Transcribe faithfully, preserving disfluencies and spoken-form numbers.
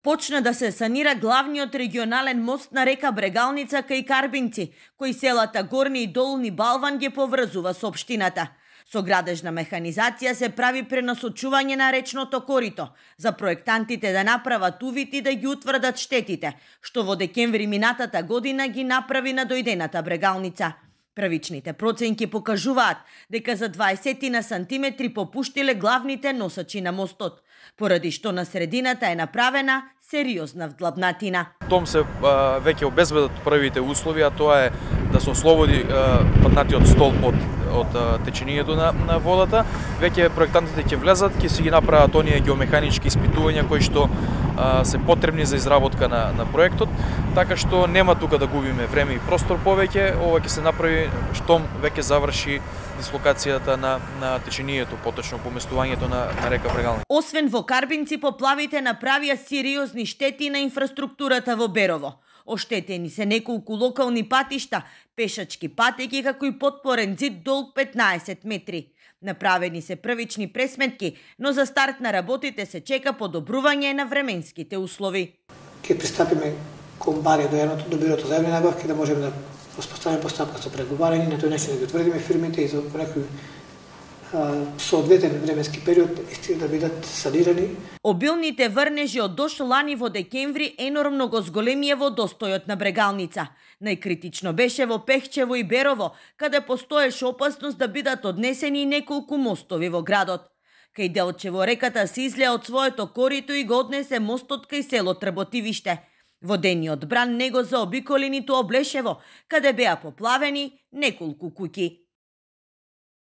Почна да се санира главниот регионален мост на река Брегалница кај Карбинци, кој селата Горни и Долни Балван ги поврзува со општината. Со градежна механизација се прави пренасочување на речното корито, за проектантите да направат увид и да ги утврдат штетите, што во декември минатата година ги направи на дојдената Брегалница. Првичните проценки покажуваат дека за дваесет на сантиметри попуштиле главните носачи на мостот, поради што на средината е направена сериозна вдлабнатина. Том се а, веќе обезбедат првите услови, а тоа е да се ослободи а, паднатиот столб од, од а, течението на, на водата. Веќе проектантите ќе влезат, ќе си ги направат оние геомеханички испитувања кои што а, се потребни за изработка на, на проектот, така што нема тука да губиме време и простор повеќе. Ова ќе се направи штом веќе заврши дислокацијата на, на течението, поточно поместувањето на, на река Брегалница. Освен во Карбинци, поплавите направија сериозни штети на инфраструктурата во Берово. Оштетени се неколку локални патишта, пешачки патеки, како и потпорен зид долг петнаесет метри. Направени се првични пресметки, но за старт на работите се чека подобрување на временските услови. Ке пристапиме кон баре до едното до бирото за јавни набавки да можеме да воспоставиме постапка со преговарање, на тој начин да ги утврдиме фирмите и за некој соодветен временски период исти да бидат санирани. Обилните врнежи од дожд лани во декември енормно го зголемија водостојот на Брегалница. Најкритично беше во Пехчево и Берово, каде постоеше опасност да бидат однесени неколку мостови во градот. Кај Делчево реката се излеа од своето корито и го однесе мостот кај село Трботивиште. Водениот бран не го заобиколи ниту Облешево, каде беа поплавени неколку куќи.